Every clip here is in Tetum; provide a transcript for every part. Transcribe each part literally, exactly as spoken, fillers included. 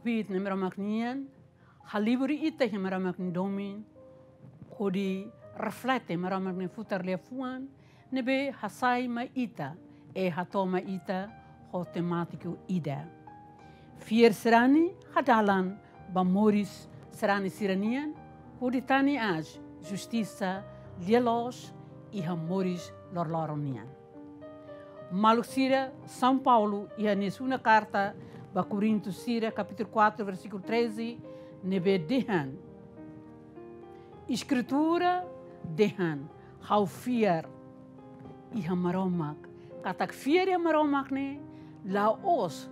kbiit Nai Maromak nian, halibur ita iha Maromak nia domin, hodi reflete Maromak nia futar liafuan ne'ebé hasai mai ita, i hato'o mai ita ho temátiku ida: Fiar sarani hadalan ba moris sarani sira-nian, hodi tane aas justisa, lia-loos iha moris loroloron nian. Maluk sira, São Paulo iha nia segunda karta ba Korintu sira, kapítulu quatro, versíkulu treze, ne'ebé dehan: Eskritura dehan: Ha'u fiar iha Maromak. Katak fiar iha Maromak ne'e la'ós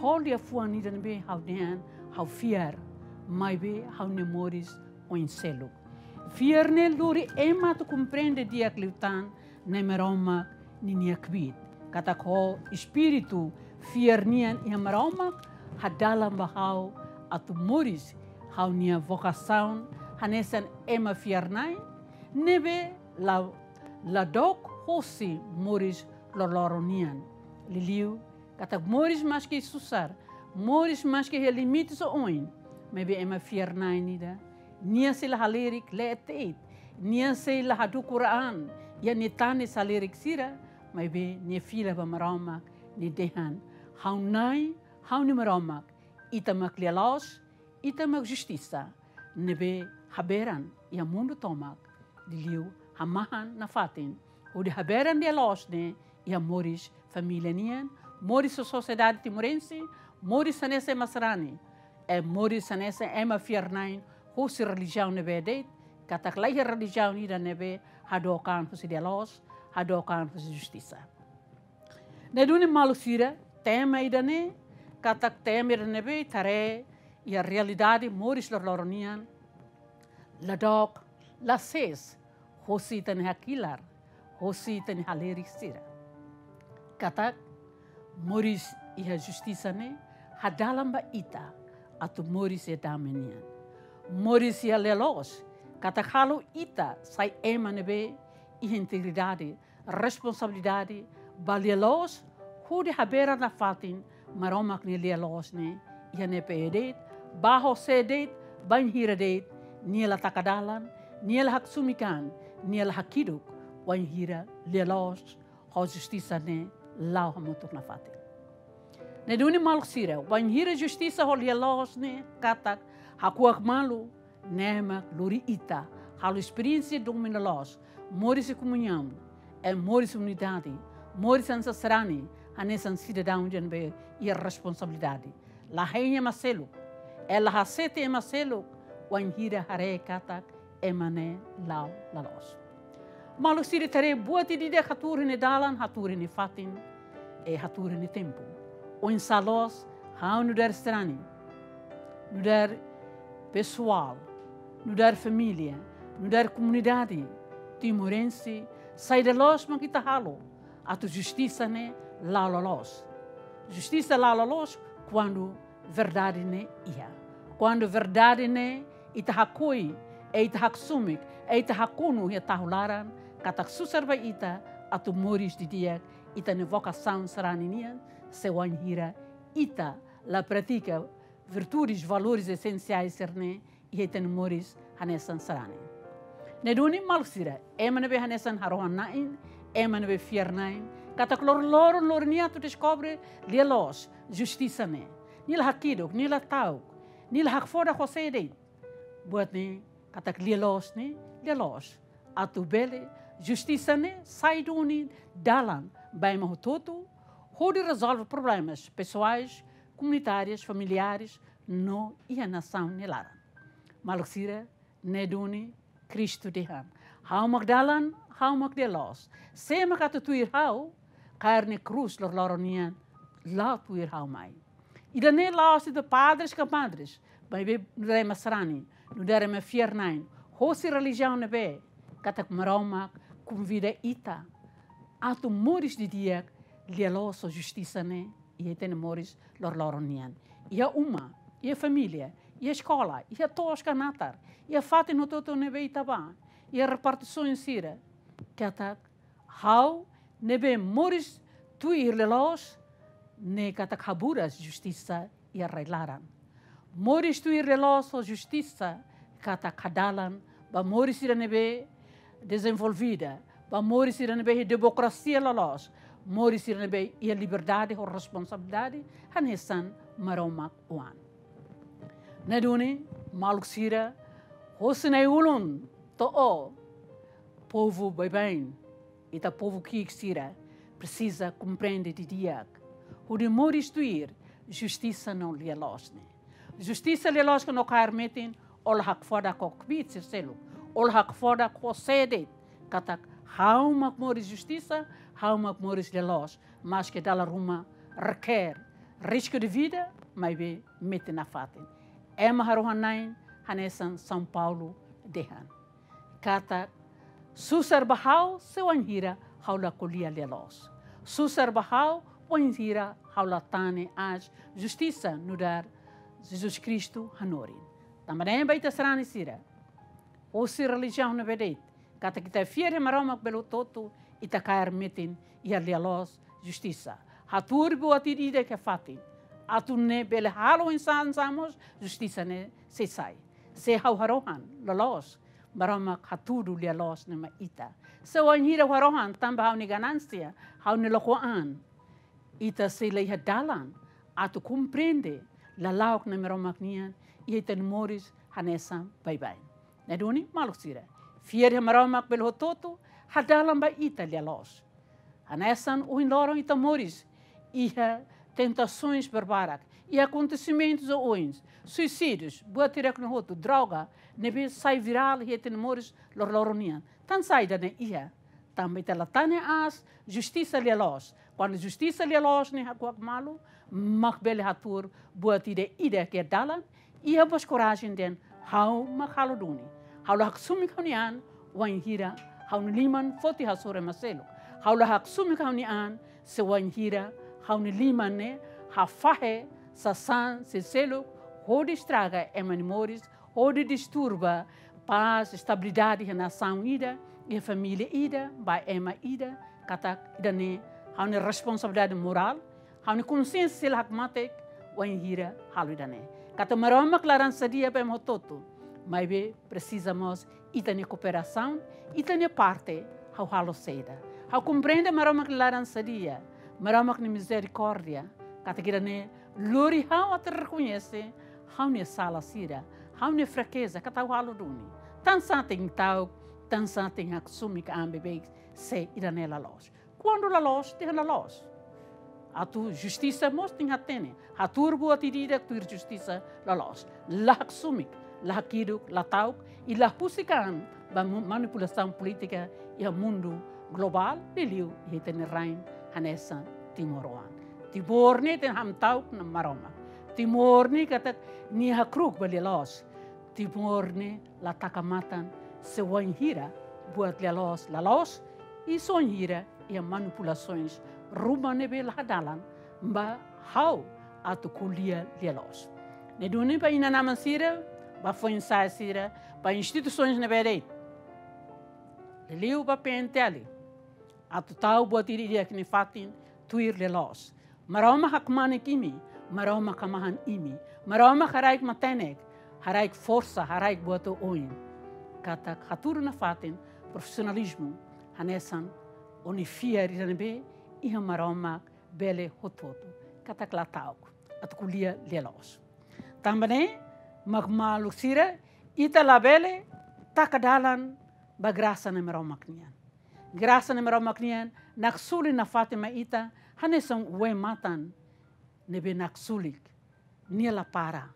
ho liafuan ida ne'ebé ha'u dehan ha'u fiar, maibé ha'u-nia moris oin seluk. Fiar ne'e lori ema atu komprende di'ak liután Nai Maromak ninia kbiit. Katak ho espíritu fiar nian iha Maromak hadalan ba ha'u atu moris ha'u-nia vokasaun hanesan ema fiar-na'in ne'ebé la, la dook hosi moris loroloron nian. Liuliu katak moris maski susar, moris maski iha limites oioin, maibé ema fiar-na'in ida, nia sei la halerik leet de'it, nia sei la hadukur an iha nia tanis halerik sira, maibé nia fila ba Maromak, nia dehan: Ha'u-nia Nai, ha'u-nia Maromak, Ita mak lia-loos, Ita mak justisa, ne'ebé haberan iha mundu tomak, liuliu hamahan nafatin, hodi haberan lia-loos ne'e iha moris família nian, moris sosiedade timorense, moris hanesan ema sarani, i moris hanesan ema fiar-na'in hosi relijiaun ne'ebé de'it, katak laiha relijiaun ida ne'ebé hadook an husi lia-loos, hadook an husi justisa. Ne'e duni maluk sira, tema ida-ne'e, katak tema ida ne'ebé ita haree iha realidade moris loroloron nian, la dook, la sees hosi ita-nia hakilar, hosi ita-nia halerik sira. Katak moris iha justisa ne'e hadalan ba ita atu moris iha dame nian. Moris iha lia-loos katak halo ita sai ema ne'ebé iha integridade, responsabilidade ba lia-loos, hodi haberan nafatin Maromak nia lia-loos ne'e iha ne'ebé de'it, ba ho sé de'it, bainhira de'it nia la taka dalan, nia la haksomikan, nia la hakiduk, wainhira lia-loos ho justisa ne'e la'o hamutuk nafatin. Ne'e duni maluk sira, wainhira justisa ho lia-loos ne'e katak hakuak malu, ne'e mak lori ita halo esperiénsia domin loloos, moris iha komuñaun, i moris iha unidade, moris hanesan sarani, hanesan sidadaun ida ne'ebé iha responsabilidade. La hein ema seluk, i la hasete ema seluk, wainhira haree katak ema ne'e la'o la loos. Maluk sira, ita haree buat ida-idak hatuur iha nia dalan, hatuur iha nia fatin, i hatuur iha nia tempu. Oinsá loos, ha'u nu'udar sarani, nu'udar pesoál, nu'udar família, nu'udar komunidade timorense, saida loos mak ita halo atu justisa ne'e la'o la loos. Justisa la'o la loos kuandu verdade ne'e iha. Kuandu verdade ne'e ita hakoi, i ita haksumik, i ita hakonu iha tahu laran, katak susar ba ita atu moris didi'ak ita-nia vokasaun sarani nian, se wainhira ita la pratika virtudes, valores essenciais sira-ne'e iha ita-nia moris hanesan sarani. Ne'e duni maluk sira, ema ne'ebé hanesan harohan-na'in, ema ne'ebé fiar-na'in, katak loroloron loron nia atu deskobre lia-loos, justisa ne'e. Nia la hakiduk, nia la ta'uk, nia la hakfodak ho sé de'it. Buat ne'e, katak lia-loos ne'e, lia-loos. Atu bele justisa ne'e sai duni dalan ba ema hotu-hotu, hodi rezolve problemas pesoais, komunitárius, familiares, no iha nasaun nia laran. Maluk sira, ne'e duni Kristu dehan: Ha'u mak dalan, ha'u mak lia-loos. Sé mak atu tuir ha'u, kaer nia krús loroloron nian, la'o tuir ha'u mai. Ida-ne'e la'ós ita padres ka madres, maibé nu'udar ema sarani, nu'udar ema fiar-na'in hosi relijiaun ne'ebé, katak Maromak konvida ita atu moris didi'ak lia-loos ho justisa ne'e iha ita-nia moris loroloron nian. Iha uma, iha família, iha eskola, iha to'os ka natar, iha fatin hotu-hotu ne'ebé ita bá, iha repartisaun sira, katak ha'u ne'ebé moris tuir lia-loos ne'e katak haburas justisa iha rai-laran. moris tuir lia-loos ho justisa katak hadalan ba moris sira ne'ebé dezenvolvida, ba moris sira ne'ebé demokrasia loloos, moris sira ne'ebé iha liberdade ho responsabilidade hanesan Maromak oan. Ne'e duni, maluk sira, hosi nai-ulun to'o ó, povu baibain, ita povu ki'ik sira, presiza komprende didi'ak hodi moris tuir justisa no lia-loos ne'e. Justisa, lia-loos ke no kaer metin, ó la hakfodak ho kbiit sira seluk, ó la hakfodak ho sé de'it, katak ha'u mak moris justisa, ha'u mak moris lia-loos, maske dala ruma requer risku de vida, maibé metin nafatin. Ema harohan-na'in, hanesan São Paulo dehan katak, susar ba ha'u se wainhira ha'u la ko'alia lia-loos. Susar ba ha'u wainhira ha'u la tane aas justisa nu'udar Jesus Kristu hanorin. Tanba ne'e ba ita sarani sira, hosi relijiaun ne'ebé de'it, katak ita fiar iha Maromak bele hotu-hotu, ita kaer metin iha lia-loos, justisa. Hatuur buat ida-idak iha fatin, atu nune'e bele halo oinsá mós justisa ne'e sei sai. Se ha'u harohan loloos, Maromak hatudu lia-loos ne'e mai ita. Se wainhira ha'u harohan tanba ha'u-nia ganánsia, ha'u-nia lokoan, ita sei la iha dalan atu komprende lala'ok Na'i Maromak nian iha ita-nia moris hanesan baibain. Ne'e duni, maluk sira, fiar iha Maromak bele hotu-hotu hadalan ba ita lia-loos. Hanesan ohin loron ita moris iha tentasoens barbarak, iha akontesimentus oioin, suisídius, buat hirak-ne'e hotu, droga, ne'ebé sai virál iha ita-nia moris loroloron nian. Tansá ida-ne'e iha? Tanba ita la tane aas justisa lia-loos. Kuandu justisa lia-loos ne'e hakuak malu, mak bele hatuur buat ida-idak iha dalan, iha mós korajen dehan ha'u mak halo duni. Ha'u la haksomi ha'u-nia an wainhira ha'u-nia liman foti hasoru ema seluk. Ha'u la haksomi ha'u-nia an se wainhira ha'u-nia liman ne'e hafahe sasán sira seluk hodi estraga ema nia moris, hodi disturba pás, estabilidade iha nasaun ida, iha família ida, ba ema ida, katak ida-ne'e ha'u-nia responsabilidade morál, ha'u-nia konsiénsia sei la hakmatek wainhira halo ida-ne'e. Katak Maromak laran sadia ba ema hotu-hotu, maibé presiza mós ita-nia kooperasaun, ita-nia parte, ha'u halo saida. Ha'u komprende Maromak laran sadia, Maromak nia mizerikórdia, katak ida-ne'e lori ha'u atu rekoñese ha'u-nia sala sira, ha'u-nia frakeza, katak ha'u halo duni. Tansá tenke ta'uk, tansá tenke haksomi ka an beibeik se ida-ne'e la loos. Kuandu la loos, dehan la loos. Atu justisa mós tenke hatene. Hatuur buat ida-idak tuir justisa la loos. La haksumik, la hakiduk, la ta'uk, i la husik an ba mu-, manipulasaun polítika iha mundu globál, liuliu iha ita-nia rain hanesan timoroan. Timor ne'e tenke hamta'uk Na'i Maromak. Timor ne'e katak nia hakru'uk ba lia-loos. Timor ne'e la taka matan se wainhira buat lia-loos la loos, i se wainhira iha manipulasoens ruma ne'ebé la hadalan ba ha'u atu ko'alia lia-loos. Ne'e duni ba inan-aman sira, ba foin-sa'e sira, ba instituisoens ne'ebé de'it, liuliu ba P N T L, atu tau buat ida-idak iha nia fatin tuir lia-loos. Maromak hakmanek imi, Maromak hamahan imi, Maromak haraik matenek, haraik forsa, haraik buat oioin. Katak hatudu nafatin profisionalizmu hanesan ó-nia fiar ida ne'ebé iha Maromak bele hotu-hotu. Katak la ta'uk atu ko'alia lia-loos. Tanba ne'e, mak maluk sira, ita labele taka dalan ba grasa Na'i Maromak nian. Grasa Na'i Maromak nian naksolin nafatin mai ita hanesan wa'in matan ne'ebé naksolik, nia la para.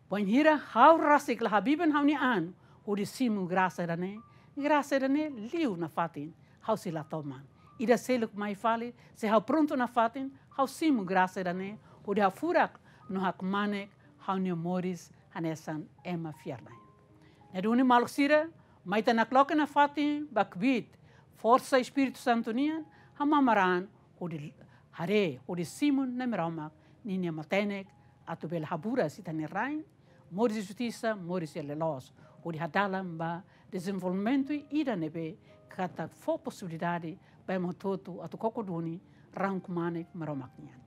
Wainhira ha'u rasik la habiben ha'u-nia an hodi simu grasa ida-ne'e, grasa ida-ne'e liu nafatin, ha'u sei la toman. Ida seluk mai fali, se ha'u prontu nafatin, ha'u simu grasa ida-ne'e hodi hafurak no hakmanek ha'u-nia moris hanesan ema fiar-na'in. Ne'e duni maluk sira, mai ita nakloke nafatin ba kbiit forsa Espíritu Santu nian, hamamar an hodi haree, hodi simu Na'i Maromak ninia matenek atu bele haburas ita-nia rain, moris justisa, moris lia-loos, hodi hadalan ba dezenvolvimentu ida ne'ebé katak fó posibilidade ba ema hotu-hotu atu koko duni rahun kmanek Maromak nian.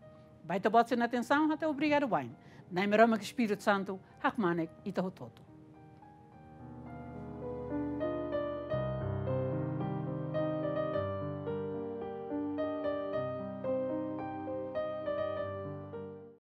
Ba ita-boot sira-nia atensaun, ha'u hatete obrigadu wa'in. Na'i Maromak Espíritu Santu hakmanek ita hotu-hotu.